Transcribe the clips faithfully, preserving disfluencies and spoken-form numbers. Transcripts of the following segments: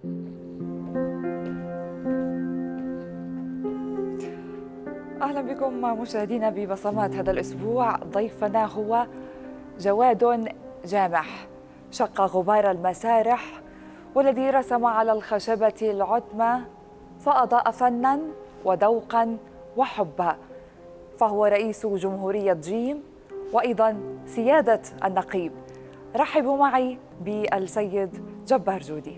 أهلا بكم مشاهدينا ببصمات. هذا الأسبوع ضيفنا هو جواد جامح، شق غبار المسارح والذي رسم على الخشبة العتمة فأضاء فناً وذوقاً وحبا، فهو رئيس جمهورية جيم وأيضاً سيادة النقيب. رحبوا معي بالسيد جبار جودي.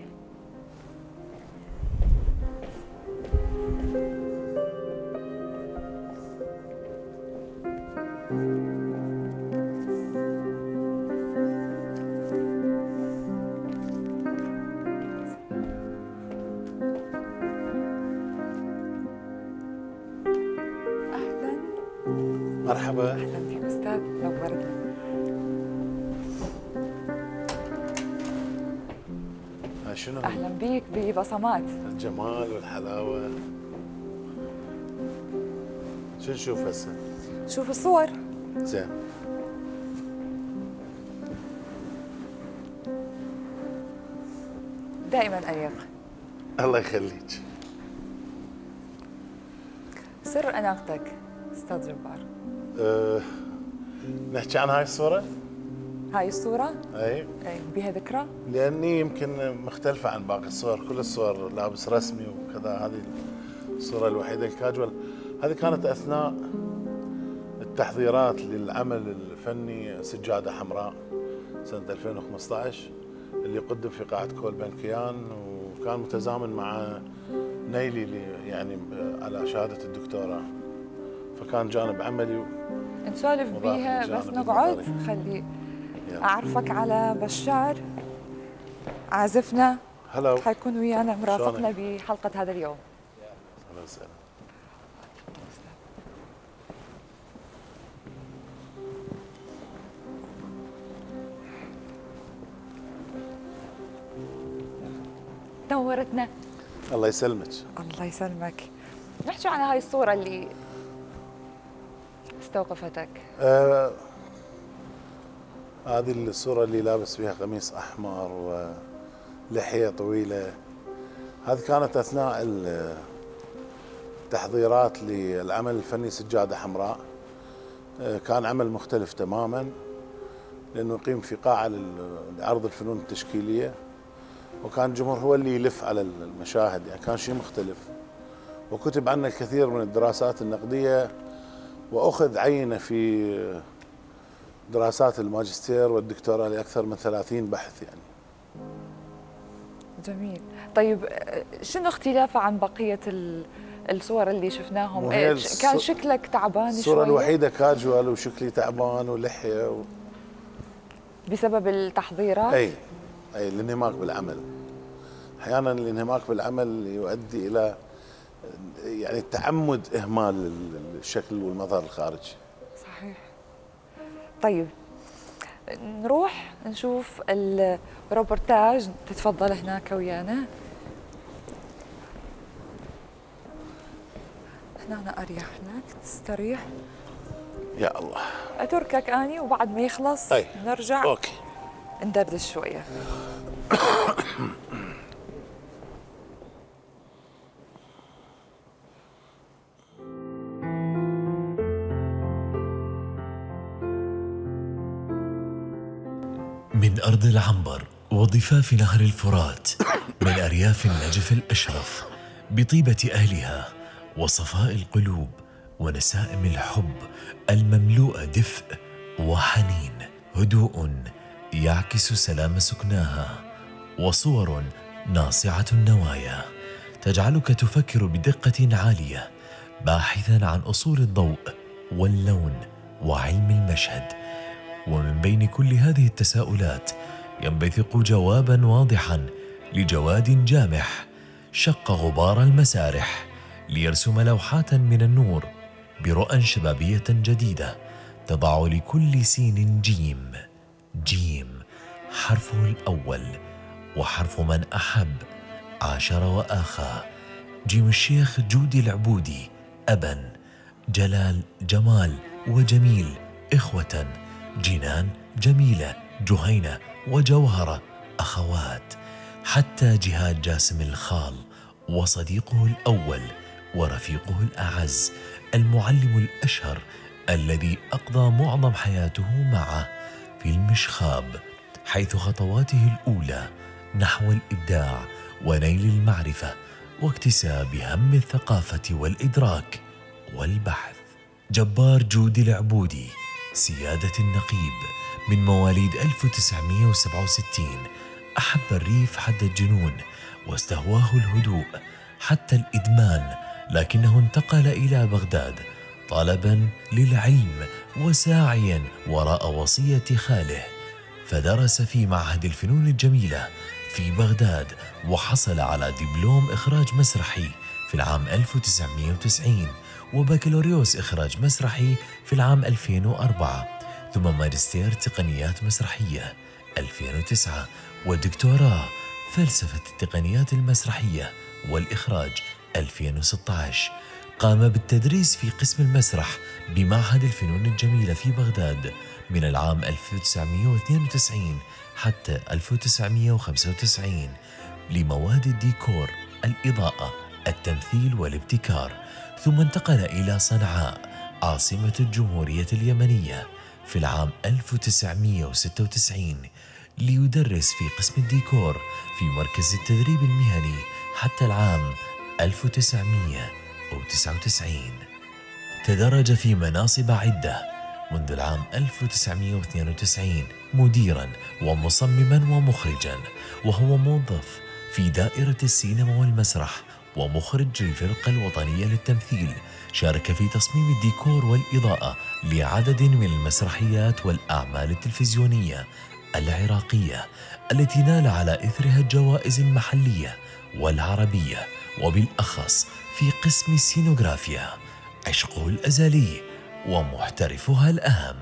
مرحبا. اهلا بك استاذ، نورتنا. هاي شنو؟ اهلا بك ببصمات. الجمال والحلاوه. شو نشوف هسه؟ شوف الصور. زين. دائما انيق. الله يخليك. سر اناقتك استاذ جبار. أه نحكي عن هاي الصورة؟ هاي الصورة؟ اي اي بها ذكرى؟ لأني يمكن مختلفة عن باقي الصور، كل الصور لابس رسمي وكذا، هذه الصورة الوحيدة الكاجوال. هذه كانت أثناء التحضيرات للعمل الفني سجادة حمراء سنة ألفين وخمسة عشر اللي قدم في قاعة كولبنكيان، وكان متزامن مع نيلي يعني على شهادة الدكتوراه، فكان جانب عملي نسولف بيها بس نقعد. خلي اعرفك على بشار عازفنا. هلا، حيكون ويانا مرافقنا بحلقة هذا اليوم. اهلا وسهلا. نورتنا. الله يسلمك. الله يسلمك. نحكي عن هاي الصورة اللي استوقفتك. آه هذه الصورة اللي لابس فيها قميص أحمر ولحية طويلة، هذه كانت أثناء التحضيرات للعمل الفني سجادة حمراء. آه كان عمل مختلف تماما، لأنه يقيم في قاعة لعرض الفنون التشكيلية، وكان الجمهور هو اللي يلف على المشاهد، يعني كان شيء مختلف. وكتب عنه الكثير من الدراسات النقدية، وأخذ عينة في دراسات الماجستير والدكتوراه لأكثر من ثلاثين بحث يعني. جميل. طيب شنو اختلافه عن بقية الصور اللي شفناهم؟ كان شكلك تعبان شوية؟ الصورة الوحيدة كاجوال وشكلي تعبان ولحية و... بسبب التحضيرات؟ أي أي الانهماك بالعمل. أحيانا الانهماك بالعمل يؤدي إلى يعني تعمد إهمال الشكل والمظهر الخارجي. صحيح. طيب نروح نشوف الروبورتاج. تتفضل هناك ويانا. هنا أريح لك تستريح. يا الله. أتركك أني وبعد ما يخلص أي. نرجع أوكي ندردش شوية. من أرض العنبر وضفاف نهر الفرات، من أرياف النجف الأشرف، بطيبة أهلها وصفاء القلوب ونسائم الحب المملوءة دفء وحنين، هدوء يعكس سلام سكناها، وصور ناصعة النوايا تجعلك تفكر بدقة عالية، باحثا عن أصول الضوء واللون وعلم المشهد. ومن بين كل هذه التساؤلات ينبثق جوابا واضحا لجواد جامح، شق غبار المسارح ليرسم لوحات من النور برؤى شبابية جديدة تضع لكل سين جيم. جيم حرفه الأول وحرف من أحب عاشر وآخى. جيم الشيخ جودي العبودي أبا، جلال جمال وجميل إخوة، جنان جميلة جهينة وجوهرة أخوات. حتى جهاد جاسم الخال وصديقه الأول ورفيقه الأعز، المعلم الأشهر الذي أقضى معظم حياته معه في المشخاب، حيث خطواته الأولى نحو الإبداع ونيل المعرفة واكتساب هم الثقافة والإدراك والبحث. جبار جودي العبودي سيادة النقيب من مواليد ألف وتسعمئة وسبعة وستين، أحب الريف حد الجنون واستهواه الهدوء حتى الإدمان، لكنه انتقل إلى بغداد طالبا للعلم وساعيا وراء وصية خاله، فدرس في معهد الفنون الجميلة في بغداد وحصل على دبلوم إخراج مسرحي في العام ألف وتسعمئة وتسعين وبكالوريوس إخراج مسرحي في العام ألفين وأربعة، ثم ماجستير تقنيات مسرحية ألفين وتسعة ودكتوراه فلسفة التقنيات المسرحية والإخراج ألفين وستة عشر. قام بالتدريس في قسم المسرح بمعهد الفنون الجميلة في بغداد من العام ألف وتسعمئة واثنين وتسعين حتى ألف وتسعمئة وخمسة وتسعين لمواد الديكور، الإضاءة، التمثيل والابتكار، ثم انتقل إلى صنعاء عاصمة الجمهورية اليمنية في العام ألف وتسعمئة وستة وتسعين ليدرس في قسم الديكور في مركز التدريب المهني حتى العام ألف وتسعمئة وتسعة وتسعين. تدرج في مناصب عدة منذ العام ألف وتسعمئة واثنين وتسعين مديرا ومصمما ومخرجا، وهو موظف في دائرة السينما والمسرح ومخرج للفرقة الوطنية للتمثيل. شارك في تصميم الديكور والإضاءة لعدد من المسرحيات والأعمال التلفزيونية العراقية التي نال على إثرها الجوائز المحلية والعربية، وبالأخص في قسم السينوغرافيا عشقه الأزلي ومحترفها الأهم.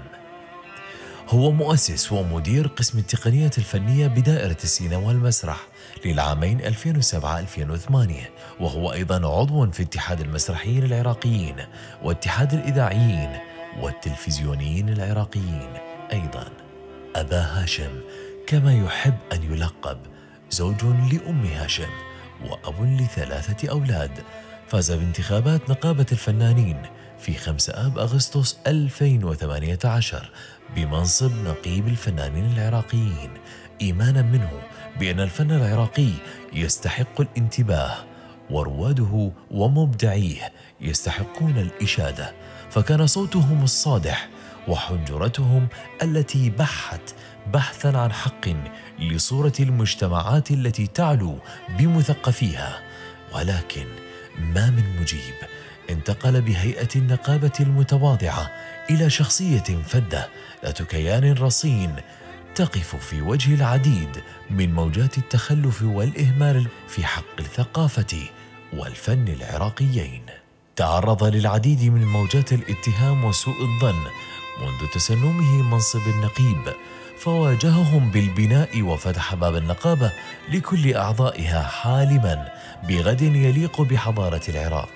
هو مؤسس ومدير قسم التقنيات الفنية بدائرة السينما والمسرح للعامين ألفين وسبعة ألفين وثمانية، وهو أيضا عضو في اتحاد المسرحيين العراقيين واتحاد الإذاعيين والتلفزيونيين العراقيين أيضا. أبا هاشم كما يحب أن يلقب، زوج لأم هاشم وأب لثلاثة أولاد. فاز بانتخابات نقابة الفنانين في خمسة آب أغسطس ألفين وثمانية عشر بمنصب نقيب الفنانين العراقيين، إيمانا منه بأن الفن العراقي يستحق الانتباه ورواده ومبدعيه يستحقون الإشادة، فكان صوتهم الصادح وحنجرتهم التي بحت بحثا عن حق لصورة المجتمعات التي تعلو بمثقفيها. ولكن ما من مجيب، انتقل بهيئة النقابة المتواضعة إلى شخصية فذة ذات كيان رصين تقف في وجه العديد من موجات التخلف والإهمال في حق الثقافة والفن العراقيين. تعرض للعديد من موجات الاتهام وسوء الظن منذ تسنمه منصب النقيب، فواجههم بالبناء وفتح باب النقابة لكل أعضائها حالما بغد يليق بحضارة العراق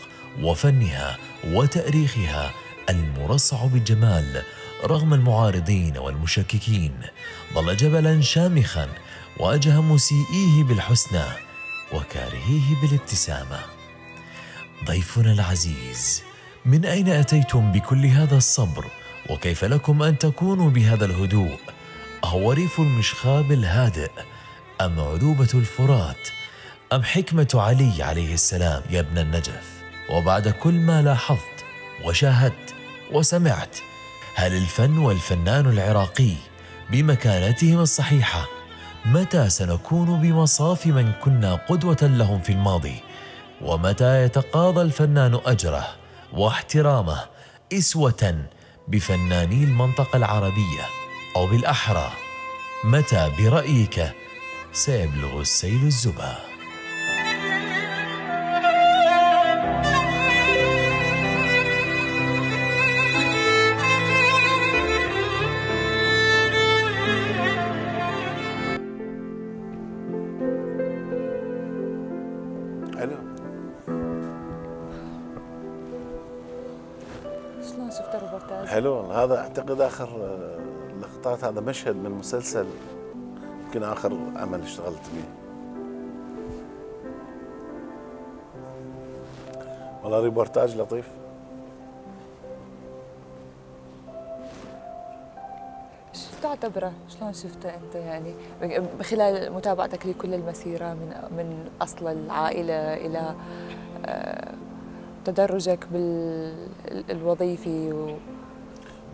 وفنها وتاريخها المرصع بالجمال. رغم المعارضين والمشككين ظل جبلا شامخا واجه مسيئيه بالحسنى وكارهيه بالابتسامة. ضيفنا العزيز، من أين أتيتم بكل هذا الصبر؟ وكيف لكم أن تكونوا بهذا الهدوء؟ أهو ريف المشخاب الهادئ أم عذوبة الفرات أم حكمة علي عليه السلام يا ابن النجف؟ وبعد كل ما لاحظت وشاهدت وسمعت، هل الفن والفنان العراقي بمكانتهم الصحيحة؟ متى سنكون بمصاف من كنا قدوة لهم في الماضي؟ ومتى يتقاضى الفنان أجره واحترامه إسوة بفناني المنطقة العربية؟ أو بالأحرى، متى برأيك سيبلغ السيل الزبا؟ شلون شفت الروبورتاج؟ حلو والله. هذا اعتقد اخر اللقطات، هذا مشهد من مسلسل يمكن اخر عمل اشتغلت به. والله ريبورتاج لطيف. شو تعتبره؟ شلون شفته انت يعني خلال متابعتك لكل المسيره من من اصل العائله الى تدرجك بالوظيفي و...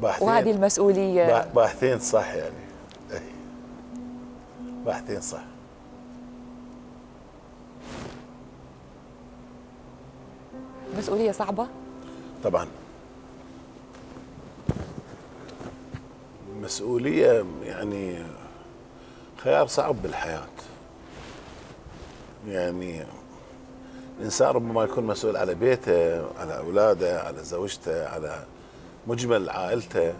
وهذه المسؤوليه؟ باحثين صح يعني. باحثين صح. مسؤوليه صعبه؟ طبعا مسؤولية يعني خيار صعب بالحياة. يعني الإنسان ربما يكون مسؤول على بيته، على أولاده، على زوجته، على مجمل عائلته،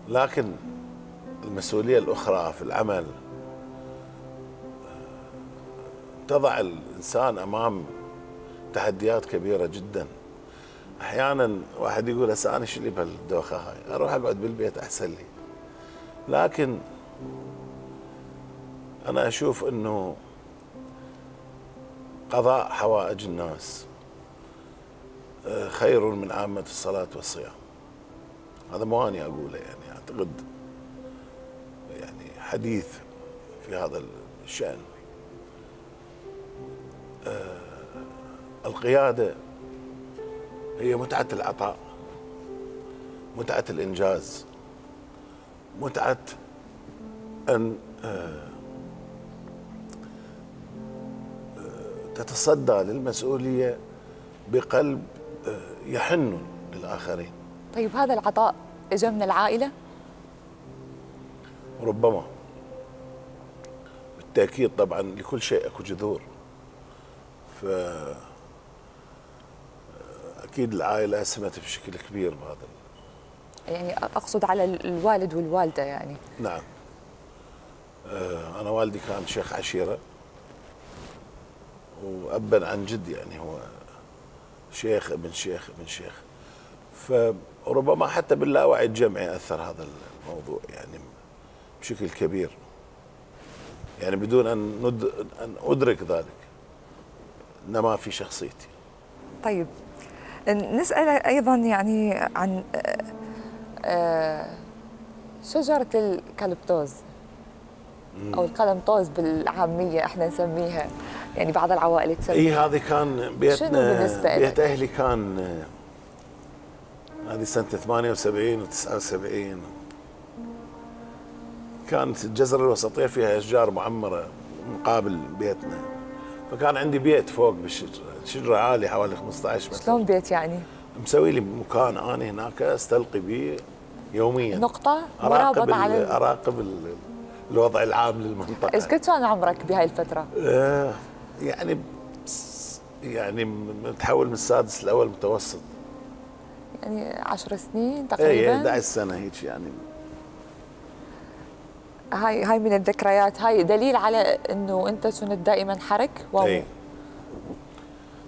لكن المسؤولية الأخرى في العمل تضع الإنسان أمام تحديات كبيرة جدا. أحيانا واحد يقول هسه أنا شو اللي بهالدوخة هاي، أروح أقعد بالبيت أحسن لي. لكن أنا أشوف أنه قضاء حوائج الناس خير من عامة الصلاة والصيام. هذا مو أنا أقوله، يعني أعتقد يعني حديث في هذا الشأن. القيادة هي متعة العطاء، متعة الإنجاز، متعة أن تتصدى للمسؤولية بقلب يحن للآخرين. طيب هذا العطاء إجا من العائلة؟ ربما، بالتأكيد طبعا لكل شيء أكو جذور. ف أكيد العائلة أسهمت بشكل كبير بهذا. يعني أقصد على الوالد والوالدة يعني. نعم. أنا والدي كان شيخ عشيرة، وأبا عن جد يعني هو شيخ ابن شيخ ابن شيخ. فربما حتى باللاوعي الجمعي أثر هذا الموضوع يعني بشكل كبير، يعني بدون أن, ند... أن أدرك ذلك نما في شخصيتي. طيب نسأل أيضا يعني عن شجرة الكالبتوز أو القلمطوز بالعامية احنا نسميها، يعني بعض العوائل تسميها. اي هذه كان بيتنا، بيت أهلي كان هذه سنة ثمانية وسبعين وتسعة وسبعين. كانت الجزر الوسطية فيها أشجار معمرة مقابل بيتنا، فكان عندي بيت فوق بالشجرة، شجرة عالية حوالي خمسة عشر متر. شلون بيت يعني؟ مسوي لي مكان أنا هناك أستلقي به يوميا، نقطة مرابطة على أراقب الوضع العام للمنطقة. ايش قد كان عمرك بهاي الفترة؟ آه يعني يعني متحول من السادس الأول متوسط. يعني عشر سنين تقريبا؟ اي أحد عشر سنة هيك يعني. هاي هاي من الذكريات، هاي دليل على انه انت كنت دائما حرك و اي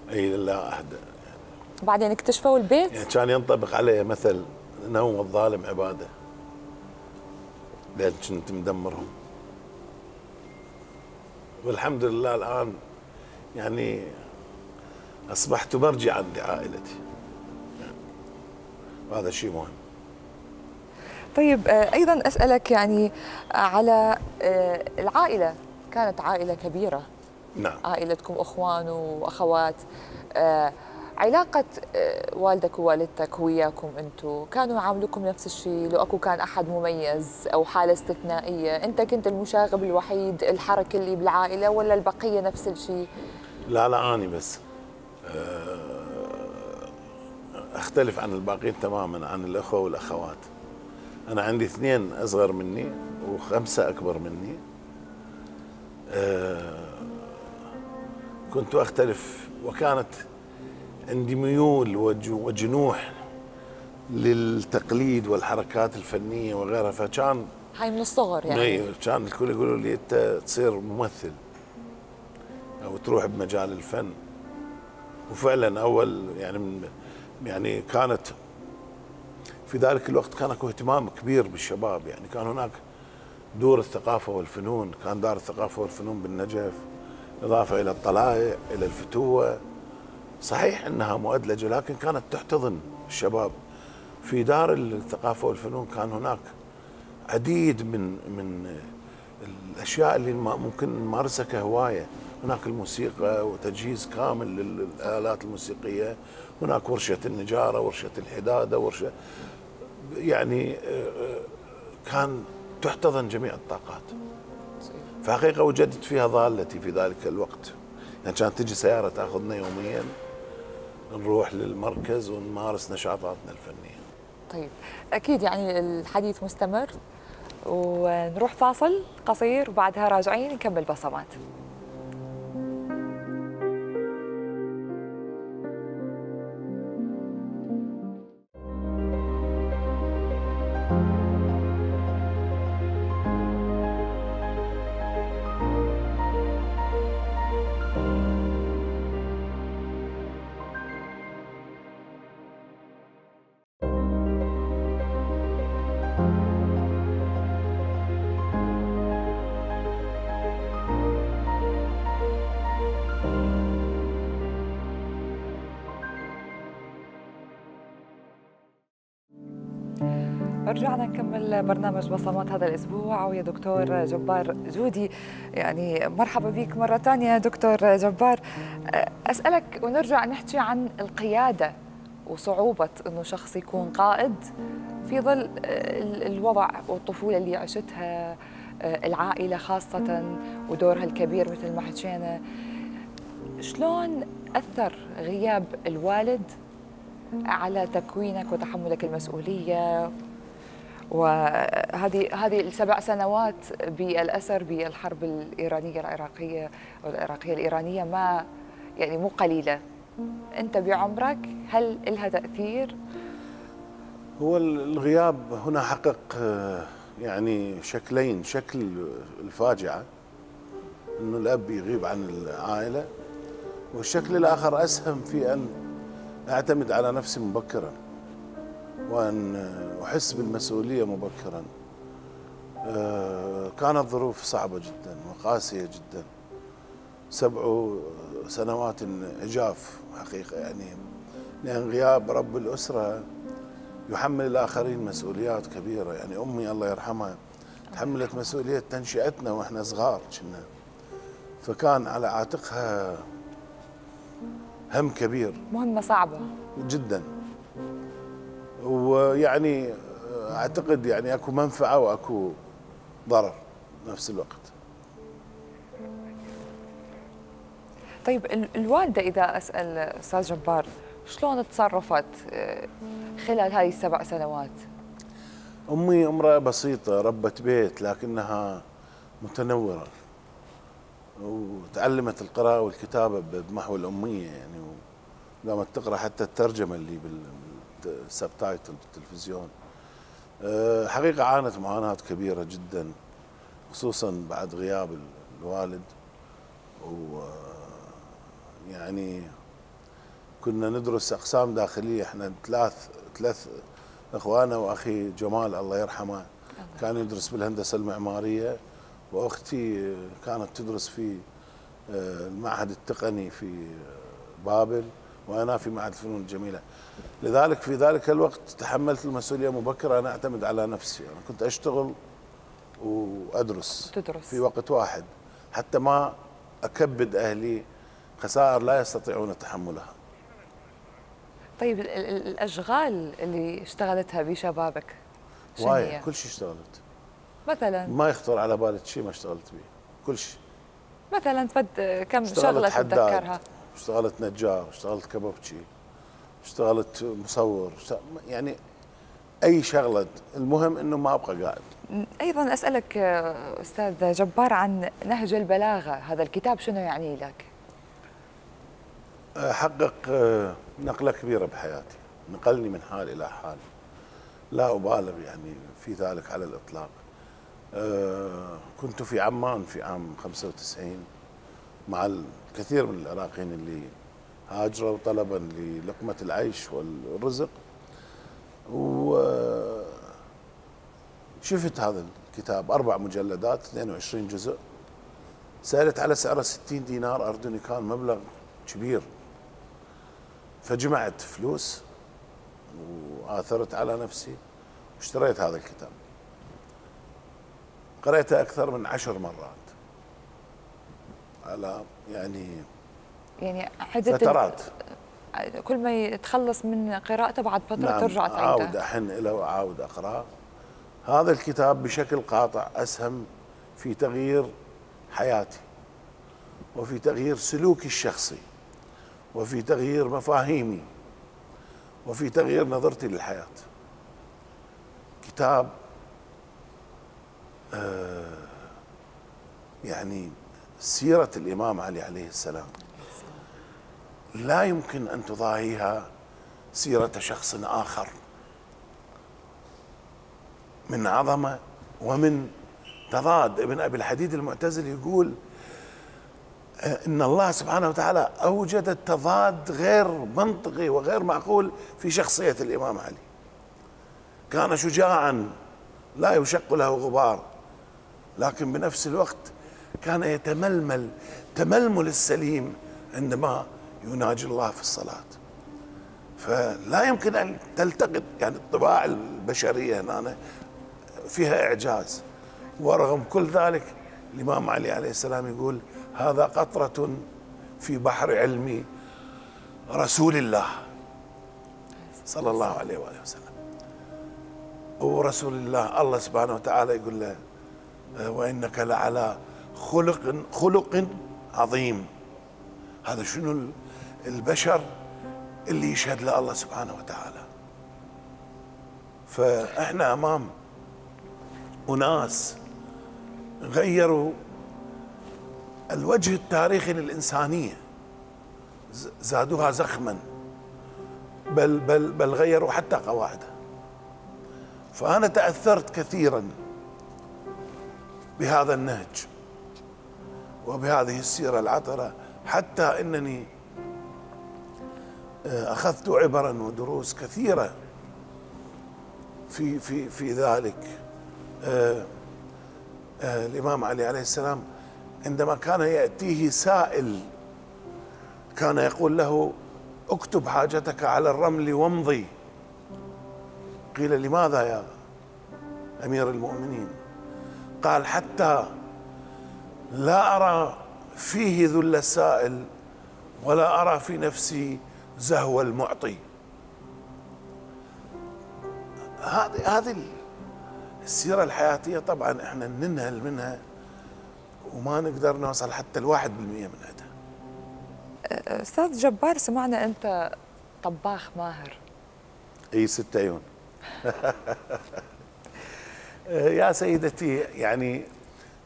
اي لا احد يعني. بعدين اكتشفوا البيت؟ يعني كان ينطبق عليه مثل نوم الظالم عباده، لأن كنت مدمرهم. والحمد لله الآن يعني أصبحت مرجعا لعائلتي، وهذا شيء مهم. طيب أيضا أسألك يعني على العائلة، كانت عائلة كبيرة. نعم. عائلتكم أخوان وأخوات، علاقة والدك ووالدتك وياكم أنتم كانوا يعاملوكم نفس الشيء؟ لو أكو كان أحد مميز أو حالة استثنائية، أنت كنت المشاغب الوحيد الحركة اللي بالعائلة ولا البقية نفس الشيء؟ لا لا أنا بس أختلف عن الباقين تماما، عن الأخوة والأخوات. أنا عندي اثنين أصغر مني وخمسة أكبر مني. كنت أختلف، وكانت عندي ميول وجنوح للتقليد والحركات الفنية وغيرها، فكان هاي من الصغر يعني. اي كان الكل يقولوا لي أنت تصير ممثل أو تروح بمجال الفن. وفعلا أول يعني من يعني كانت في ذلك الوقت كان اكو اهتمام كبير بالشباب، يعني كان هناك دور الثقافة والفنون، كان دار الثقافة والفنون بالنجف، إضافة إلى الطلائع إلى الفتوة، صحيح أنها مؤدلجة لكن كانت تحتضن الشباب. في دار الثقافة والفنون كان هناك عديد من من الأشياء اللي ممكن نمارسها كهواية. هناك الموسيقى وتجهيز كامل للآلات الموسيقية، هناك ورشة النجارة، ورشة الحدادة، ورشة يعني كان تحتضن جميع الطاقات. فحقيقة وجدت فيها ضالتي في ذلك الوقت، يعني كانت تجي سيارة تأخذنا يوميا نروح للمركز ونمارس نشاطاتنا الفنية. طيب أكيد يعني الحديث مستمر، ونروح فاصل قصير وبعدها راجعين نكمل بصمات. رجعنا نكمل برنامج بصمات هذا الأسبوع ويا دكتور جبار جودي. يعني مرحبا بك مرة ثانية دكتور جبار. أسألك ونرجع نحكي عن القيادة وصعوبة أنه شخص يكون قائد في ظل الوضع والطفولة اللي عشتها، العائلة خاصة ودورها الكبير مثل ما حكينا. شلون أثر غياب الوالد على تكوينك وتحملك المسؤولية، وهذه هذه السبع سنوات بالأسر بالحرب الإيرانية العراقية والعراقية الإيرانية، ما يعني مو قليلة. أنت بعمرك هل لها تأثير؟ هو الغياب هنا حقق يعني شكلين، شكل الفاجعة أنه الأب يغيب عن العائلة، والشكل الآخر أسهم في أن أعتمد على نفسي مبكراً وأن أحس بالمسؤولية مبكراً. كانت ظروف صعبة جداً وقاسية جداً، سبع سنوات عجاف حقيقة، يعني لأن غياب رب الأسرة يحمل الآخرين مسؤوليات كبيرة. يعني أمي الله يرحمها تحملت مسؤولية تنشئتنا وإحنا صغار كنا، فكان على عاتقها هم كبير، مهمة صعبة جدا. ويعني اعتقد يعني اكو منفعه واكو ضرر بنفس الوقت. طيب الوالده اذا اسال استاذ جبار شلون تصرفت خلال هاي السبع سنوات؟ امي امراه بسيطه ربة بيت لكنها متنوره، وتعلمت القراءه والكتابه بمحو الاميه، يعني قامت تقرا حتى الترجمه اللي بالسبتايتل بالتلفزيون. حقيقه عانت معاناه كبيره جدا خصوصا بعد غياب الوالد، ويعني كنا ندرس اقسام داخليه، احنا ثلاث ثلاث اخوانا واخي جمال الله يرحمه كان يدرس بالهندسه المعماريه، واختي كانت تدرس في المعهد التقني في بابل، وانا في معهد الفنون الجميله. لذلك في ذلك الوقت تحملت المسؤوليه مبكرا، انا اعتمد على نفسي، انا كنت اشتغل وادرس تدرس في وقت واحد حتى ما اكبد اهلي خسائر لا يستطيعون تحملها. طيب الاشغال اللي اشتغلتها بشبابك وايد، كل شيء اشتغلت. مثلا ما يخطر على بالك شيء ما اشتغلت به، كل شيء. مثلا فد كم شغله تتذكرها؟ اشتغلت نجار، اشتغلت كبابتشي، اشتغلت مصور، يعني اي شغله، المهم انه ما ابقى قاعد. ايضا اسالك استاذ جبار عن نهج البلاغه، هذا الكتاب شنو يعني لك؟ حقق نقله كبيره بحياتي، نقلني من حال الى حال، لا ابالغ يعني في ذلك على الاطلاق. كنت في عمان في عام خمسة وتسعين مع الكثير من العراقيين اللي هاجروا طلبا للقمه العيش والرزق، وشفت هذا الكتاب أربع مجلدات اثنين وعشرين جزء، سألت على سعره ستين دينار أردني، كان مبلغ كبير. فجمعت فلوس وآثرت على نفسي واشتريت هذا الكتاب. قرأته أكثر من عشر مرات على يعني يعني عدة فترات. كل ما يتخلص من قراءته بعد فترة نعم، ترجع تعيده. أعود أحن إليه وأعود أقرأ. هذا الكتاب بشكل قاطع أسهم في تغيير حياتي وفي تغيير سلوكي الشخصي وفي تغيير مفاهيمي وفي تغيير نظرتي للحياة. كتاب آه يعني سيرة الإمام علي عليه السلام لا يمكن أن تضاهيها سيرة شخص آخر من عظمة ومن تضاد. ابن أبي الحديد المعتزلي يقول إن الله سبحانه وتعالى أوجد التضاد غير منطقي وغير معقول في شخصية الإمام علي. كان شجاعا لا يشق له غبار، لكن بنفس الوقت كان يتململ تململ السليم عندما يناجي الله في الصلاة. فلا يمكن أن تلتقط يعني الطباع البشرية هنا فيها إعجاز، ورغم كل ذلك الإمام علي عليه السلام يقول هذا قطرة في بحر علم رسول الله صلى الله عليه وآله وسلم. ورسول الله الله سبحانه وتعالى يقول له وإنك لعلى خلق خلق عظيم. هذا شنو البشر اللي يشهد له الله سبحانه وتعالى. فإحنا أمام أناس غيروا الوجه التاريخي للإنسانية، زادوها زخما، بل بل بل غيروا حتى قواعدها. فأنا تأثرت كثيرا بهذا النهج وبهذه السيرة العطرة، حتى أنني أخذت عبرا ودروس كثيرة في في في ذلك. آه آه الإمام علي عليه السلام عندما كان يأتيه سائل كان يقول له اكتب حاجتك على الرمل وامضي. قيل لماذا يا أمير المؤمنين؟ قال حتى لا أرى فيه ذل السائل ولا أرى في نفسي زهو المعطي. هذه هذه السيرة الحياتية طبعا احنا ننهل منها وما نقدر نوصل حتى الواحد بالمئة من عندها. أستاذ جبار، سمعنا أنت طباخ ماهر. اي ست عيون. يا سيدتي يعني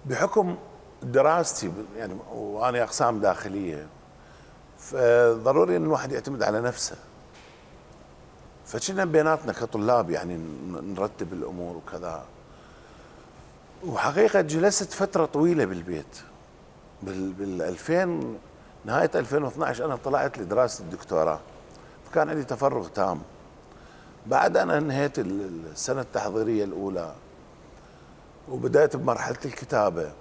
بحكم دراستي يعني وانا اقسام داخليه فضروري ان الواحد يعتمد على نفسه. فكنا بيناتنا كطلاب يعني نرتب الامور وكذا. وحقيقه جلست فتره طويله بالبيت بال بال ألفين نهايه ألفين واثنعش انا طلعت لدراسه الدكتوراه، فكان عندي تفرغ تام. بعد أن انهيت السنه التحضيريه الاولى وبدأت بمرحله الكتابه،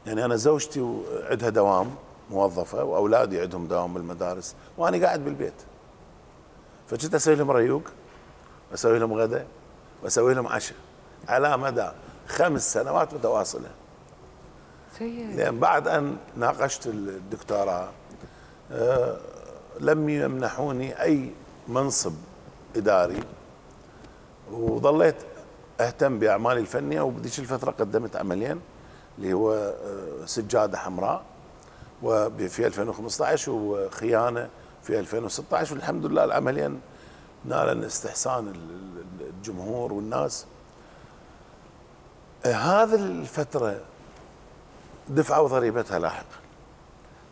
يعني انا زوجتي عندها دوام موظفه واولادي عندهم دوام بالمدارس وانا قاعد بالبيت، فكنت اسوي لهم ريوق واسوي لهم غداء واسوي لهم عشاء على مدى خمس سنوات متواصله. لان بعد ان ناقشت الدكتوراه آه لم يمنحوني اي منصب اداري، وظليت اهتم باعمالي الفنيه. وبذيك الفتره قدمت عملين اللي هو آه سجاده حمراء وفي ألفين وخمسة عشر وخيانه في ألفين وستة عشر، والحمد لله العملين نالن استحسان الجمهور والناس. هذه الفترة دفعوا ضريبتها لاحقا.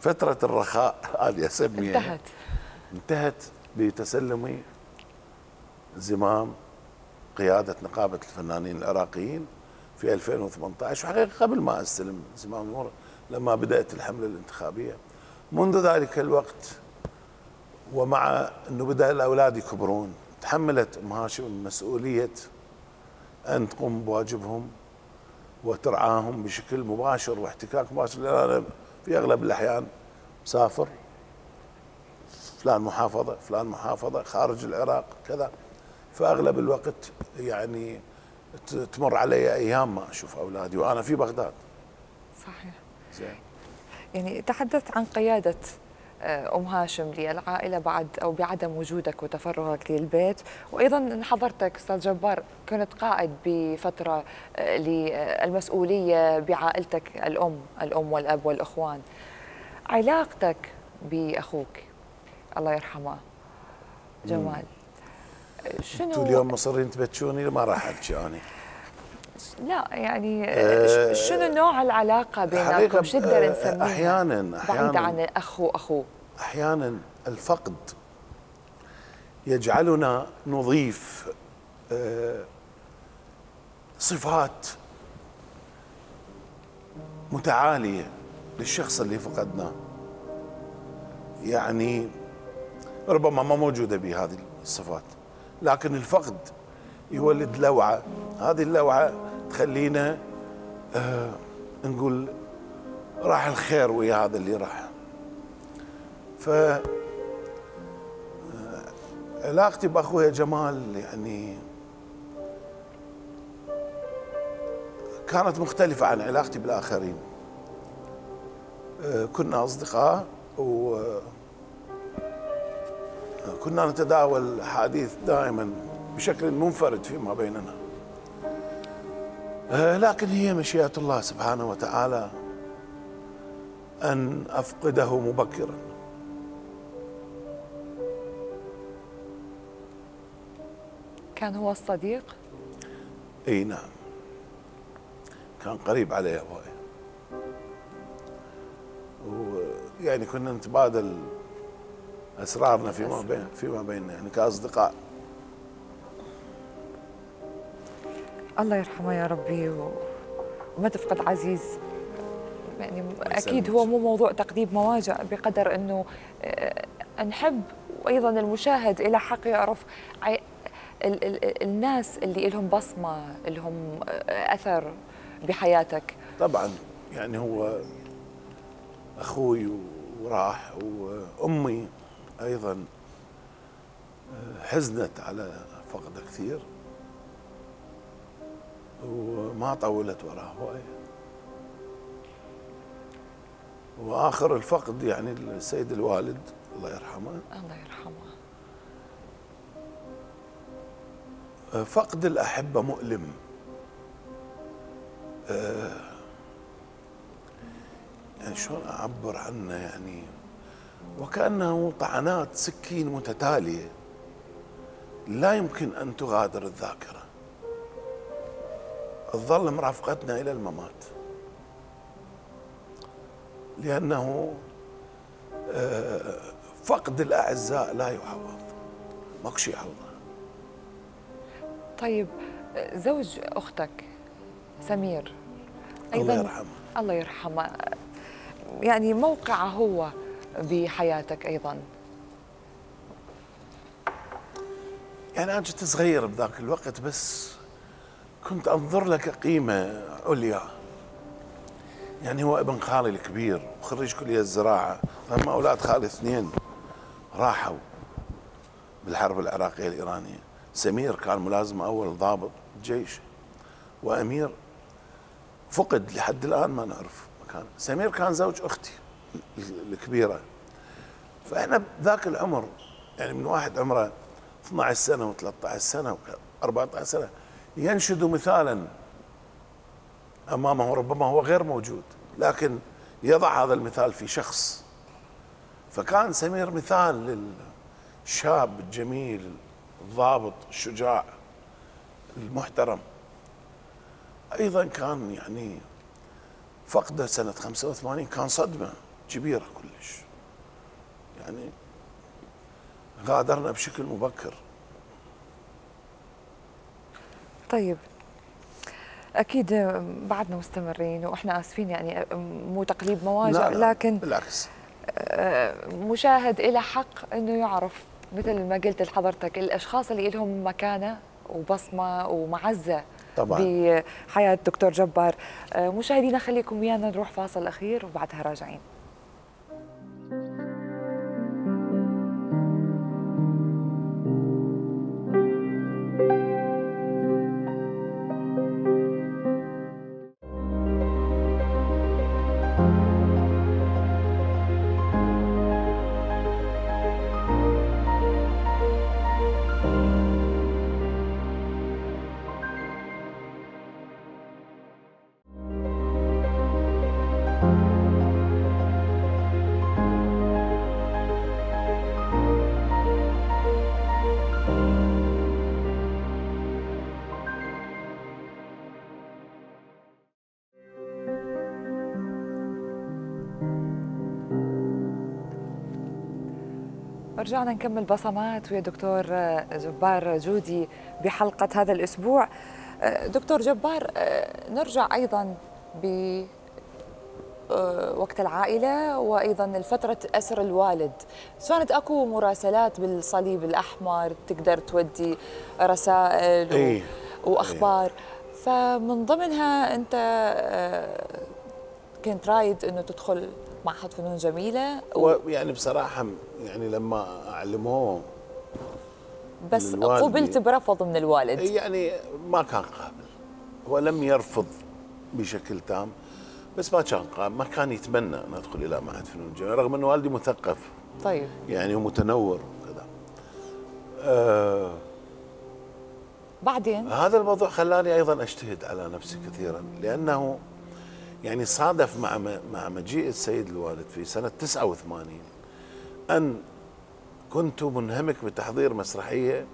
فترة الرخاء هذه اسميها انتهت انتهت بتسلمي زمام قيادة نقابة الفنانين العراقيين في ألفين وثمانية عشر، وحقيقة قبل ما استلم زمام الأمور لما بدأت الحملة الانتخابية. منذ ذلك الوقت ومع أنه بدأ الأولاد يكبرون تحملت أم هاشم مسؤولية أن تقوم بواجبهم وترعاهم بشكل مباشر واحتكاك مباشر، لأن أنا في أغلب الأحيان مسافر فلان محافظة فلان محافظة خارج العراق كذا. فأغلب الوقت يعني تمر علي أيام ما أشوف أولادي وأنا في بغداد. صحيح. زين. يعني تحدثت عن قيادة أم هاشم للعائلة بعد أو بعدم وجودك وتفرغك للبيت، وأيضا حضرتك أستاذ جبار كنت قائد بفترة للمسؤولية بعائلتك الأم الأم والأب والأخوان. علاقتك بأخوك الله يرحمه جمال شنو؟ انتوا اليوم مصرين تبتشوني ما راح احكي انا. لا يعني أه شنو نوع العلاقة بينكم؟ شو نقدر نسميها؟ احيانا احيانا بعيدة عن الاخ واخوه. احيانا الفقد يجعلنا نضيف صفات متعالية للشخص اللي فقدناه، يعني ربما ما موجودة بهذه الصفات، لكن الفقد يولد لوعة، هذه اللوعة تخلينا آه نقول راح الخير ويا هذا اللي راح. ف علاقتي بأخويا جمال يعني كانت مختلفة عن علاقتي بالآخرين. آه كنا أصدقاء وكنا نتداول حديث دائما بشكل منفرد فيما بيننا، لكن هي مشيئة الله سبحانه وتعالى أن أفقده مبكرا. كان هو الصديق؟ اي نعم، كان قريب علي هواي، ويعني كنا نتبادل أسرارنا فيما بين فيما بيننا يعني كأصدقاء. الله يرحمه يا ربي وما تفقد عزيز. يعني اكيد هو مو موضوع تقديم مواجع بقدر انه نحب، وايضا المشاهد الى حق يعرف ال ال الناس اللي لهم بصمه، لهم اثر بحياتك. طبعا يعني هو اخوي وراح، وامي ايضا حزنت على فقده كثير وما طولت وراه هوايه. واخر الفقد يعني السيد الوالد الله يرحمه. الله يرحمه. فقد الاحبه مؤلم، يعني شلون اعبر عنه، يعني وكانه طعنات سكين متتاليه لا يمكن ان تغادر الذاكره، تظل مرافقتنا الى الممات، لانه فقد الاعزاء لا يعوض، ماكو شيء يعوضه. طيب زوج اختك سمير ايضا الله يرحمه الله يرحمه، يعني موقعه هو بحياتك ايضا؟ يعني انا كنت صغير بذاك الوقت، بس كنت انظر له كقيمه عليا. يعني هو ابن خالي الكبير وخريج كليه الزراعه، هم اولاد خالي اثنين راحوا بالحرب العراقيه الايرانيه. سمير كان ملازم اول ضابط جيش، وامير فقد لحد الان ما نعرف مكانه. سمير كان زوج اختي الكبيره. فاحنا بذاك العمر يعني من واحد عمره اثني عشر سنه و13 سنه و14 سنه ينشد مثالا امامه، ربما هو غير موجود لكن يضع هذا المثال في شخص. فكان سمير مثال للشاب الجميل الضابط الشجاع المحترم. ايضا كان يعني فقده سنه خمسة وثمانين كان صدمه كبيره كلش، يعني غادرنا بشكل مبكر. طيب اكيد بعدنا مستمرين واحنا اسفين، يعني مو تقليب مواجع، لا لا لكن بالعكس مشاهد الى حق انه يعرف مثل ما قلت لحضرتك الاشخاص اللي لهم مكانه وبصمه ومعزه طبعا بحياه دكتور جبار. مشاهدينا خليكم ويانا نروح فاصل اخير وبعدها راجعين. ورجعنا نكمل بصمات ويا دكتور جبار جودي بحلقة هذا الأسبوع. دكتور جبار، نرجع أيضا ب وقت العائلة وأيضا فترة أسر الوالد. كانت أكو مراسلات بالصليب الأحمر، تقدر تودي رسائل أي. وأخبار. أي. فمن ضمنها أنت كنت رايد أنه تدخل معهد فنون جميلة و... يعني بصراحة يعني لما أعلموه بس قبلت برفض من الوالد. يعني ما كان قابل، هو لم يرفض بشكل تام، بس ما كان قابل، ما كان يتمنى أن أدخل إلى معهد فنون جميلة رغم أن والدي مثقف. طيب. يعني ومتنور وكذا. آه بعدين هذا الموضوع خلاني أيضا أجتهد على نفسي كثيرا، لأنه يعني صادف مع مع مجيء السيد الوالد في سنة تسعة وثمانين أن كنت منهمك بتحضير مسرحية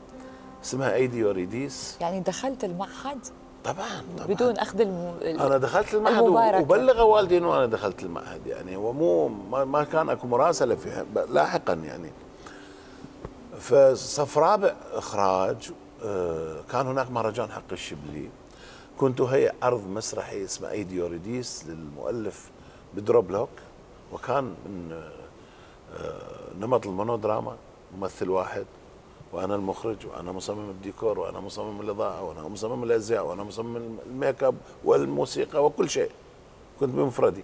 اسمها أيدي يوريديس. يعني دخلت المعهد؟ طبعا, طبعاً. بدون أخذ الم... أنا دخلت المعهد المباركة. وبلغ والدي أنه أنا دخلت المعهد، يعني هو مو ما كان أكو مراسلة فيها لاحقا يعني. فصف رابع إخراج كان هناك مهرجان حق الشبلي، كنت هيئ عرض مسرحي اسمه أيدي يوريديس للمؤلف بدروبلوك، وكان من نمط المونودراما، ممثل واحد وانا المخرج وانا مصمم الديكور وانا مصمم الاضاءه وانا مصمم الازياء وانا مصمم الميك اب والموسيقى وكل شيء، كنت بمفردي.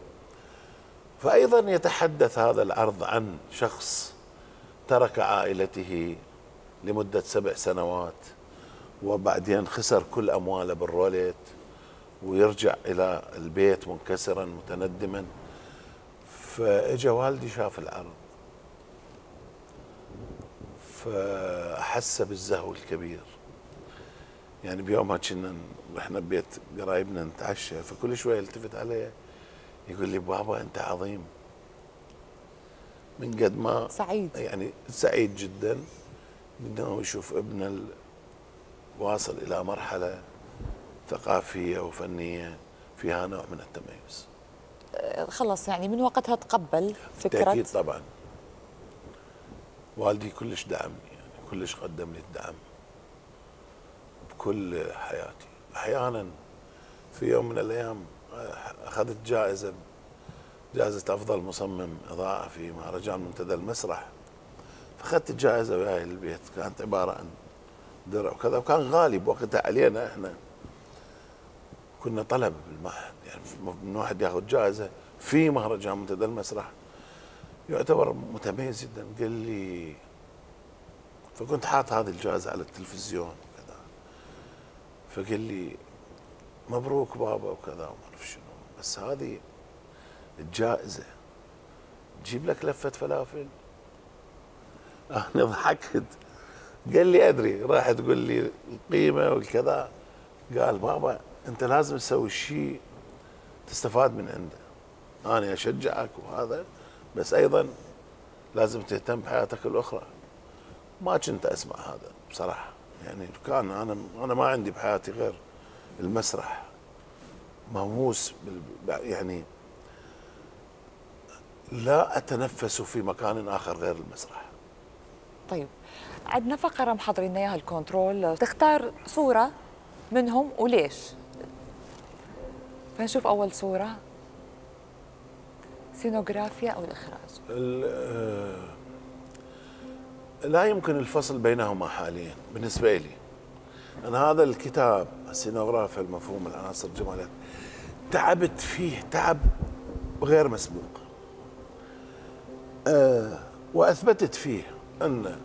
فايضا يتحدث هذا العرض عن شخص ترك عائلته لمده سبع سنوات وبعدين خسر كل امواله بالروليت ويرجع الى البيت منكسرا متندما. فاجا والدي شاف العرض فأحس بالزهو الكبير. يعني بيومها كنا احنا ببيت قرايبنا نتعشى، فكل شويه يلتفت علي يقول لي بابا انت عظيم، من قد ما سعيد، يعني سعيد جدا انه يشوف ابنه واصل الى مرحله ثقافيه وفنيه فيها نوع من التميز. خلص يعني من وقتها تقبل فكره. بالتأكيد طبعا. والدي كلش دعمني، يعني كلش قدم لي الدعم بكل حياتي. احيانا في يوم من الايام اخذت جائزه جائزه افضل مصمم اضاءه في مهرجان منتدى المسرح، فاخذت الجائزه وياي للبيت، كانت عباره عن درع وكذا، وكان غالي بوقتها علينا احنا، كنا طلب بالمعهد، يعني من واحد ياخذ جائزه في مهرجان منتدى المسرح يعتبر متميز جدا. قال لي، فكنت حاط هذه الجائزة على التلفزيون وكذا، فقال لي مبروك بابا وكذا وما اعرف شنو، بس هذه الجائزة تجيب لك لفة فلافل. انا ضحكت، قال لي ادري، راح تقول لي القيمة والكذا. قال بابا انت لازم تسوي شيء تستفاد من عنده، انا اشجعك وهذا، بس ايضا لازم تهتم بحياتك الاخرى. ما كنت اسمع هذا بصراحه، يعني كان انا انا ما عندي بحياتي غير المسرح، مهووس يعني لا اتنفس في مكان اخر غير المسرح. طيب عندنا فقره محضرين اياها الكنترول، تختار صوره منهم وليش؟ فنشوف اول صوره، سينوغرافيا أو الإخراج. لا يمكن الفصل بينهما حاليا بالنسبة لي. أنا هذا الكتاب السينوغرافيا المفهوم العناصر الجمالية تعبت فيه تعب غير مسبوق، أه وأثبتت فيه أن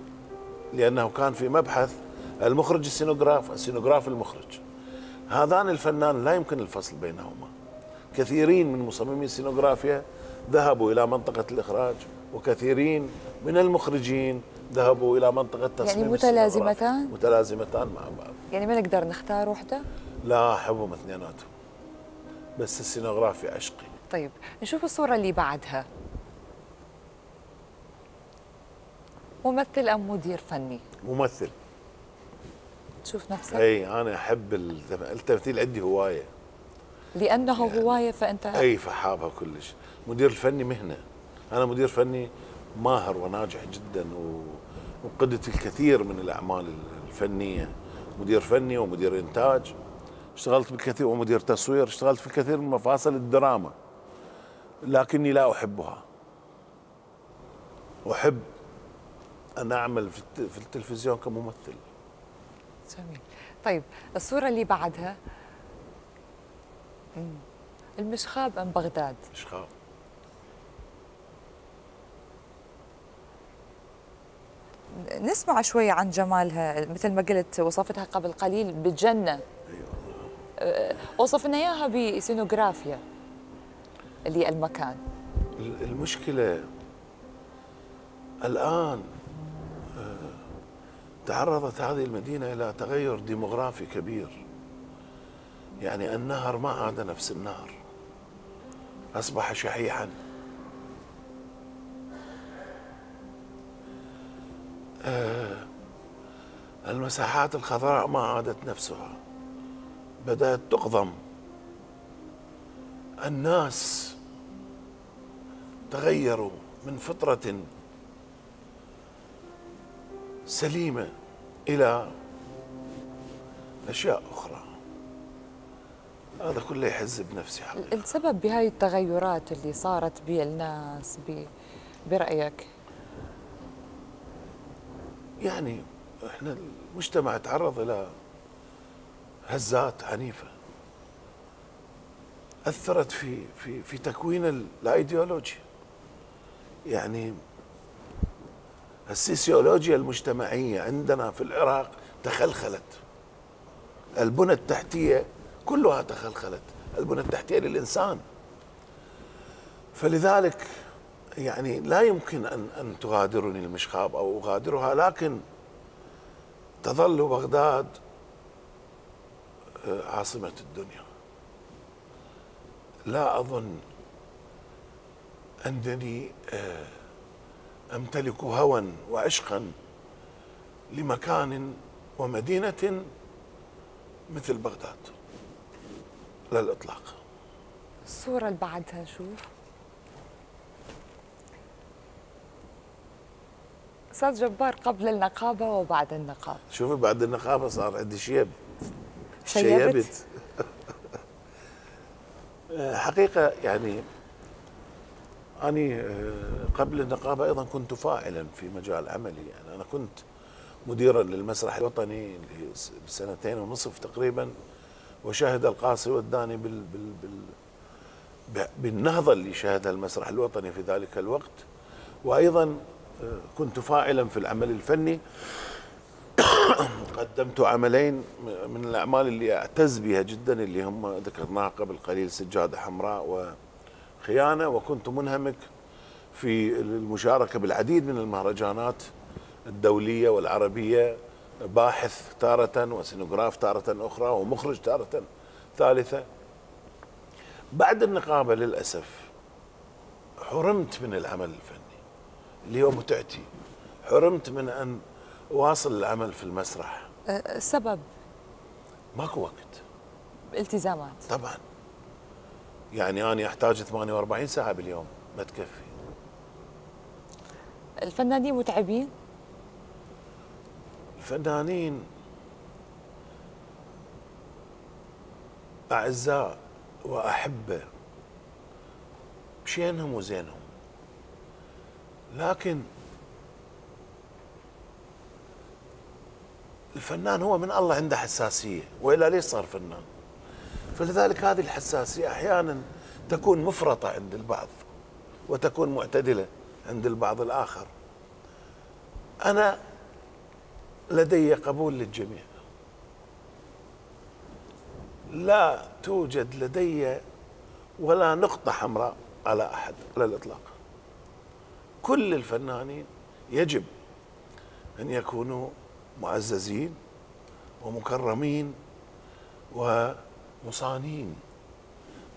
لأنه كان في مبحث المخرج السينوغراف السينوغراف المخرج، هذان الفنان لا يمكن الفصل بينهما. كثيرين من مصممي السينوغرافيا ذهبوا إلى منطقة الإخراج، وكثيرين من المخرجين ذهبوا إلى منطقة تصميم. يعني متلازمتان؟ متلازمتان مع بعض. يعني ما نقدر نختار وحدة؟ لا، أحبهم اثنيناتهم، بس السينوغرافيا عشقي. طيب نشوف الصورة اللي بعدها، ممثل أم مدير فني؟ ممثل. تشوف نفسك؟ أي أنا أحب التمثيل، عندي هواية. لأنه يعني هواية فأنت أي فحابها كلش. مدير الفني مهنة، أنا مدير فني ماهر وناجح جدا و... وقدت الكثير من الأعمال الفنية، مدير فني ومدير إنتاج، اشتغلت بالكثير ومدير تصوير، اشتغلت في الكثير من مفاصل الدراما، لكني لا أحبها. أحب أن أعمل في التلفزيون كممثل. جميل. طيب الصورة اللي بعدها، المشخاب أم بغداد؟ مشخاب. نسمع شوية عن جمالها، مثل ما قلت وصفتها قبل قليل بجنة. أيوة. وصف لنا إياها بسينوغرافيا اللي المكان. المشكلة الآن تعرضت هذه المدينة إلى تغير ديموغرافي كبير، يعني النهر ما عاد نفس النهر، أصبح شحيحا. آه المساحات الخضراء ما عادت نفسها، بدأت تقضم. الناس تغيروا من فطرة سليمة إلى أشياء أخرى. هذا كله يحز بنفسي حقيقة. السبب بهاي التغيرات اللي صارت بالناس برأيك؟ يعني احنا المجتمع تعرض إلى هزات عنيفة أثرت في في في تكوين الأيديولوجيا. يعني السيسيولوجيا المجتمعية عندنا في العراق تخلخلت، البنى التحتية كلها تخلخلت، البنى التحتية للإنسان. فلذلك يعني لا يمكن أن أن تغادرني المشخاب أو أغادرها، لكن تظل بغداد عاصمة الدنيا. لا أظن أنني أمتلك هوى وعشقا لمكان ومدينة مثل بغداد، لا الإطلاق. الصورة اللي بعدها شوف. أستاذ جبار، قبل النقابة وبعد النقابة. شوفي بعد النقابة صار عندي شيب. شيبت. حقيقة يعني أنا قبل النقابة أيضا كنت فاعلا في مجال عملي. يعني أنا كنت مديرا للمسرح الوطني لسنتين ونصف تقريبا، وشاهد القاصي والداني بال بال بال بالنهضة اللي شهدها المسرح الوطني في ذلك الوقت. وأيضا كنت فاعلا في العمل الفني. قدمت عملين من الأعمال اللي أعتز بها جدا، اللي هم ذكرناها قبل قليل، سجادة حمراء وخيانة. وكنت منهمك في المشاركة بالعديد من المهرجانات الدولية والعربية، باحث تارة وسينوغراف تارة أخرى ومخرج تارة ثالثة. بعد النقابة للأسف حرمت من العمل الفني اللي هو متعتي، حرمت من أن أواصل العمل في المسرح. السبب؟ ماكو وقت. التزامات طبعا. يعني أنا أحتاج ثمانية وأربعين ساعة باليوم، ما تكفي. الفنانين متعبين؟ الفنانين أعزاء وأحبة بشينهم وزينهم، لكن الفنان هو من الله عنده حساسية، وإلا ليش صار فنان؟ فلذلك هذه الحساسية أحيانا تكون مفرطة عند البعض وتكون معتدلة عند البعض الآخر. أنا لدي قبول للجميع، لا توجد لدي ولا نقطة حمراء على أحد على الإطلاق. كل الفنانين يجب أن يكونوا معززين ومكرمين ومصانين،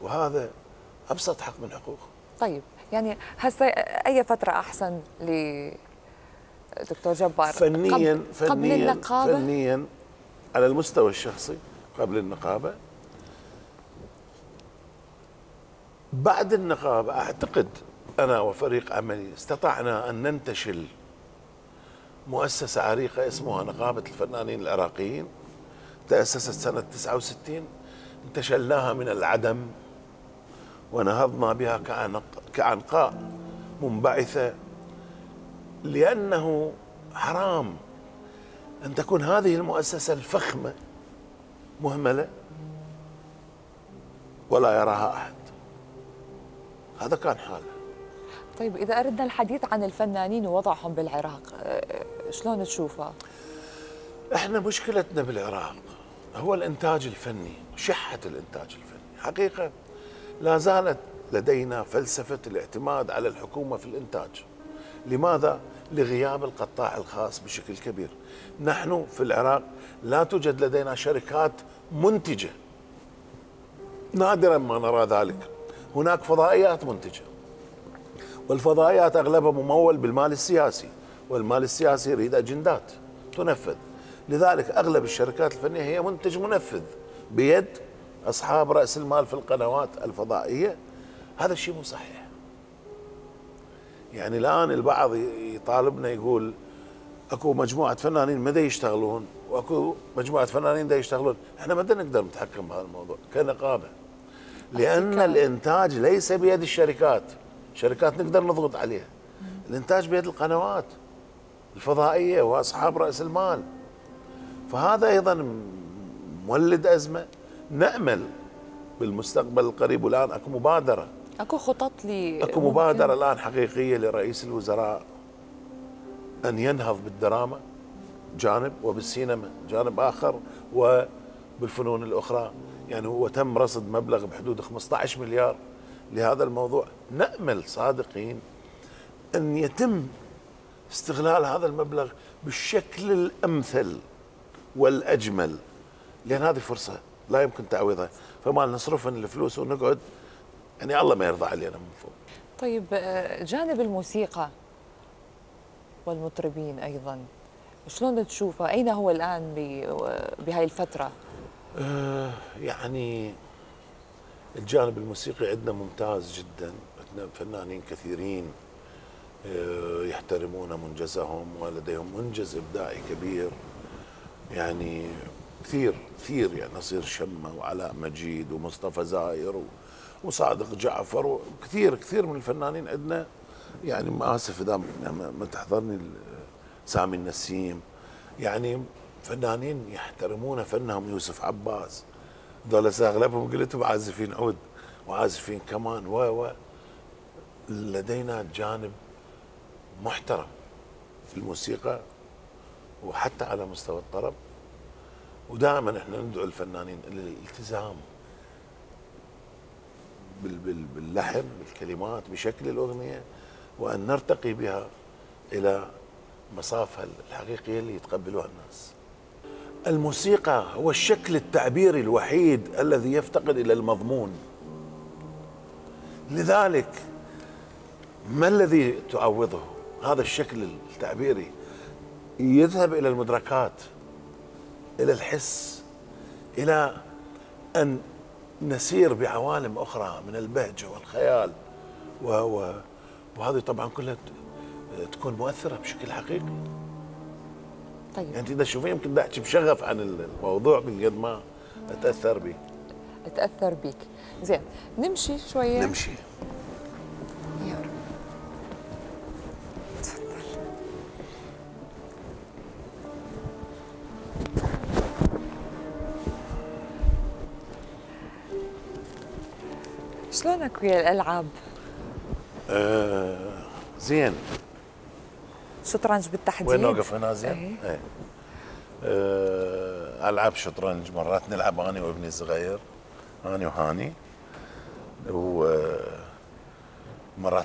وهذا أبسط حق من حقوقهم. طيب يعني هسه أي فترة أحسن لدكتور جبار؟ فنيا قبل, فنيا قبل النقابة؟ فنيا على المستوى الشخصي قبل النقابة. بعد النقابة أعتقد أنا وفريق عملي استطعنا أن ننتشل مؤسسة عريقة اسمها نقابة الفنانين العراقيين، تأسست سنة تسعة وستين، انتشلناها من العدم ونهضنا بها كعنق كعنقاء منبعثة، لأنه حرام أن تكون هذه المؤسسة الفخمة مهملة ولا يراها أحد. هذا كان حاله. طيب إذا أردنا الحديث عن الفنانين ووضعهم بالعراق، شلون تشوفه؟ احنا مشكلتنا بالعراق هو الإنتاج الفني، شحة الإنتاج الفني. حقيقة لا زالت لدينا فلسفة الاعتماد على الحكومة في الإنتاج. لماذا؟ لغياب القطاع الخاص بشكل كبير. نحن في العراق لا توجد لدينا شركات منتجة، نادرا ما نرى ذلك. هناك فضائيات منتجة، والفضائيات أغلبها ممول بالمال السياسي، والمال السياسي يريد أجندات تنفذ. لذلك أغلب الشركات الفنية هي منتج منفذ بيد أصحاب رأس المال في القنوات الفضائية. هذا الشيء مو صحيح. يعني الآن البعض يطالبنا يقول اكو مجموعة فنانين ما دا يشتغلون واكو مجموعة فنانين دا يشتغلون. احنا ما دا نقدر نتحكم بهذا الموضوع كنقابة، لأن الإنتاج ليس بيد الشركات. الشركات نقدر نضغط عليها، الإنتاج بيد القنوات الفضائية وأصحاب رأس المال. فهذا أيضا مولد أزمة. نأمل بالمستقبل القريب، والآن اكو مبادرة، اكو خطط لي اكو مبادرة الآن حقيقية لرئيس الوزراء أن ينهض بالدراما جانب وبالسينما جانب آخر وبالفنون الأخرى. يعني هو تم رصد مبلغ بحدود خمسة عشر مليار لهذا الموضوع. نأمل صادقين أن يتم استغلال هذا المبلغ بالشكل الأمثل والأجمل، لأن هذه فرصة لا يمكن تعويضها. فما نصرفن الفلوس ونقعد يعني الله ما يرضى علينا من فوق. طيب جانب الموسيقى والمطربين أيضا شلون تشوفه؟ أين هو الآن بهاي الفترة؟ آه يعني الجانب الموسيقي عندنا ممتاز جدا، عندنا فنانين كثيرين آه يحترمون منجزهم ولديهم منجز إبداعي كبير. يعني كثير كثير يعني نصير شمة وعلاء مجيد ومصطفى زاير وصادق جعفر وكثير كثير من الفنانين عندنا. يعني ما اسف اذا ما تحضرني سامي النسيم، يعني فنانين يحترمون فنهم. يوسف عباس، ذولا اغلبهم قلتهم عازفين عود وعازفين كمان و و لدينا جانب محترم في الموسيقى وحتى على مستوى الطرب. ودائما احنا ندعو الفنانين الى الالتزام باللحن بالكلمات بشكل الأغنية، وأن نرتقي بها إلى مصافها الحقيقية اللي يتقبلوها الناس. الموسيقى هو الشكل التعبيري الوحيد الذي يفتقد إلى المضمون. لذلك ما الذي تعوضه؟ هذا الشكل التعبيري يذهب إلى المدركات، إلى الحس، إلى أن نسير بعوالم أخرى من البهجة والخيال و... و... وهذه طبعا كلها تكون مؤثرة بشكل حقيقي. طيب يعني إذا شوفي يمكن بدي أحكي بشغف عن الموضوع من قد ما أتأثر به. أتأثر بك. زين نمشي شوية. نمشي. يا رب. تفضل. شلونك ويا الألعاب؟ آه زين. شطرنج بالتحديد؟ وين نوقف هنا زين؟ ايه. ايه. آه ألعب شطرنج مرات نلعب أنا وابني الصغير، أنا وهاني، ومرات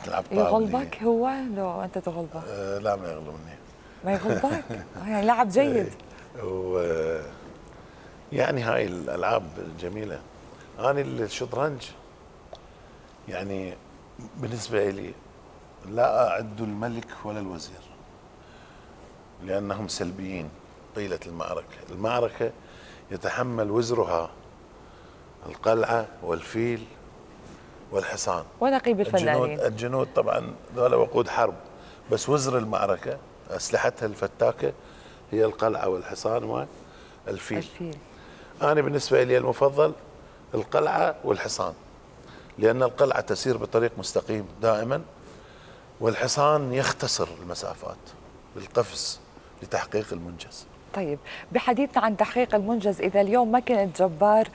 نلعب طاولة. يغلبك هو لو أنت تغلبه؟ آه لا ما يغلبني. ما يغلبك؟ يعني لاعب جيد. و يعني هاي الألعاب الجميلة. أنا الشطرنج يعني بالنسبة لي لا أعد الملك ولا الوزير، لأنهم سلبيين طيلة المعركة. المعركة يتحمل وزرها القلعة والفيل والحصان ونقيب الفنانين. الجنود, الجنود طبعا ذولا وقود حرب، بس وزر المعركة اسلحتها الفتاكه هي القلعه والحصان والفيل. الفيل. انا بالنسبه لي المفضل القلعه والحصان، لان القلعه تسير بطريق مستقيم دائما، والحصان يختصر المسافات بالقفز لتحقيق المنجز. طيب بحديثنا عن تحقيق المنجز، إذا اليوم ما كنت جبار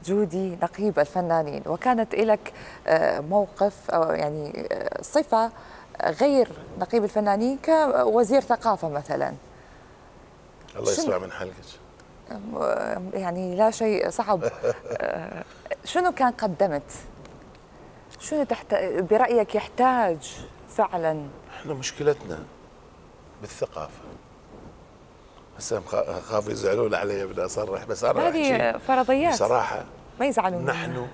جودي نقيب الفنانين وكانت لك موقف أو يعني صفة غير نقيب الفنانين كوزير ثقافة مثلا، الله يسمع من حلقك. يعني لا شيء صعب. شنو كان قدمت؟ شنو تحت برأيك يحتاج فعلا؟ احنا مشكلتنا بالثقافة. هسه خافوا يزعلون علي بدي اصرح، بس انا هذه فرضيات بصراحة ما يزعلون. نحن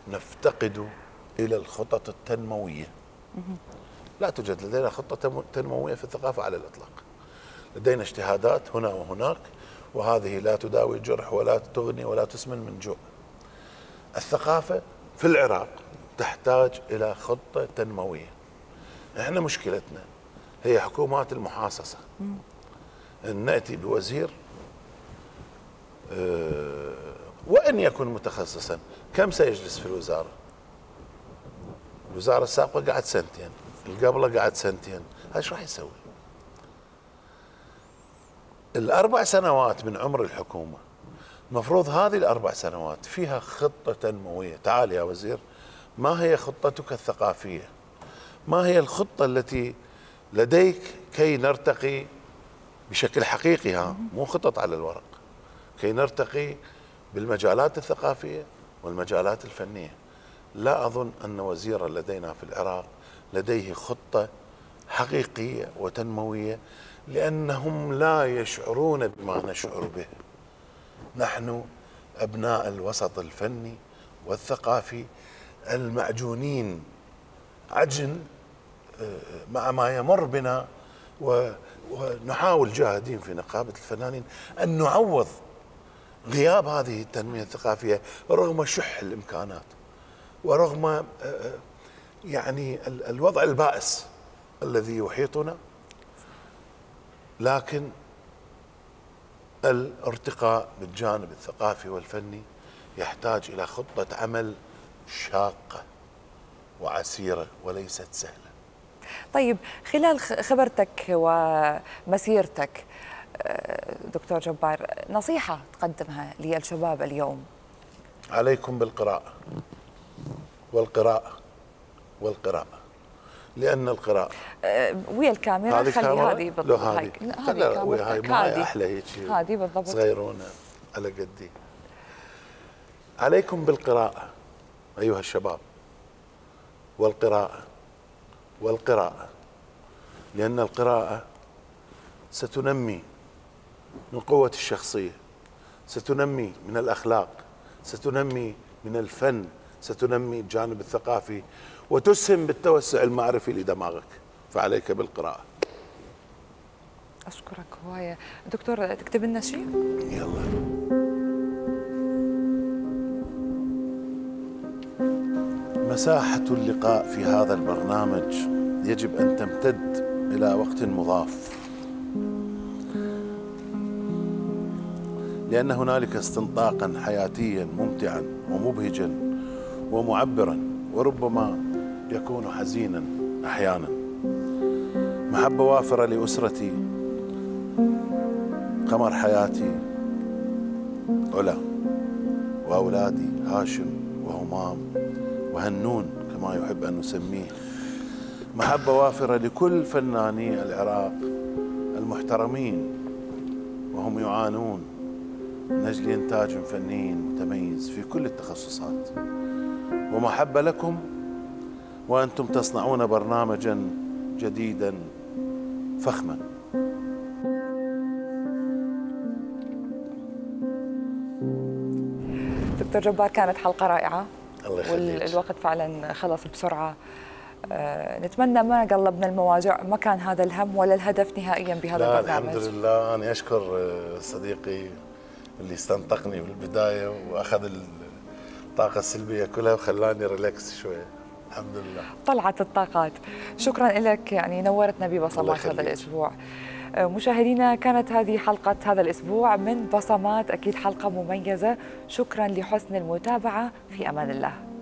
نفتقد الى الخطط التنموية. لا توجد لدينا خطة تنموية في الثقافة على الاطلاق. لدينا اجتهادات هنا وهناك، وهذه لا تداوي الجرح ولا تغني ولا تسمن من جوع. الثقافة في العراق تحتاج إلى خطة تنموية. احنا مشكلتنا هي حكومات المحاصصة. أن نأتي بوزير أه وإن يكن متخصصا، كم سيجلس في الوزارة؟ الوزارة السابقة قعد سنتين، اللي قبله قعد سنتين، هذا ايش راح يسوي؟ الأربع سنوات من عمر الحكومة المفروض هذه الأربع سنوات فيها خطة تنموية. تعال يا وزير، ما هي خطتك الثقافية؟ ما هي الخطة التي لديك كي نرتقي بشكل حقيقي، ها مو خطط على الورق، كي نرتقي بالمجالات الثقافية والمجالات الفنية؟ لا أظن أن وزيرا لدينا في العراق لديه خطة حقيقية وتنموية، لأنهم لا يشعرون بما نشعر به. نحن أبناء الوسط الفني والثقافي المعجونين عجن مع ما يمر بنا، ونحاول جاهدين في نقابة الفنانين أن نعوض غياب هذه التنمية الثقافية رغم شح الإمكانات ورغم يعني الوضع البائس الذي يحيطنا. لكن الارتقاء بالجانب الثقافي والفني يحتاج إلى خطة عمل شاقة وعسيرة وليست سهلة. طيب خلال خبرتك ومسيرتك دكتور جبار، نصيحة تقدمها للشباب اليوم؟ عليكم بالقراءة والقراءة والقراءة، لأن القراءة أه ويا الكاميرا، خلي هذه بالضبط. هذه هذه هاي أحلى هيك، هذه بالضبط صغيرونة على قدي. عليكم بالقراءة أيها الشباب، والقراءة والقراءة، لأن القراءة ستنمي من قوة الشخصية، ستنمي من الأخلاق، ستنمي من الفن، ستنمي الجانب الثقافي، وتسهم بالتوسع المعرفي لدماغك. فعليك بالقراءة. أشكرك هواية دكتور. تكتب لنا شيء؟ يلا. مساحة اللقاء في هذا البرنامج يجب أن تمتد إلى وقت مضاف، لأن هنالك استنطاقا حياتيا ممتعا ومبهجا ومعبرا، وربما يكون حزينا أحيانا. محبة وافرة لأسرتي، قمر حياتي علا، وأولادي هاشم وهمام وهنون كما يحب أن نسميه. محبة وافرة لكل فناني العراق المحترمين وهم يعانون من أجل إنتاج فني متميز في كل التخصصات. ومحبة لكم وأنتم تصنعون برنامجا جديدا فخما. دكتور جبار، كانت حلقة رائعة. الله يخليك. والوقت فعلا خلص بسرعة. أه نتمنى ما قلبنا المواجع، ما كان هذا الهم ولا الهدف نهائيا بهذا لا البرنامج. الحمد لله. أنا أشكر صديقي اللي استنطقني بالبداية وأخذ الطاقة السلبية كلها وخلاني ريلاكس شوية. الحمد لله. طلعت الطاقات. شكرا لك، يعني نورتنا ببصمات هذا الأسبوع. مشاهدينا كانت هذه حلقة هذا الأسبوع من بصمات، أكيد حلقة مميزة. شكرا لحسن المتابعة، في أمان الله.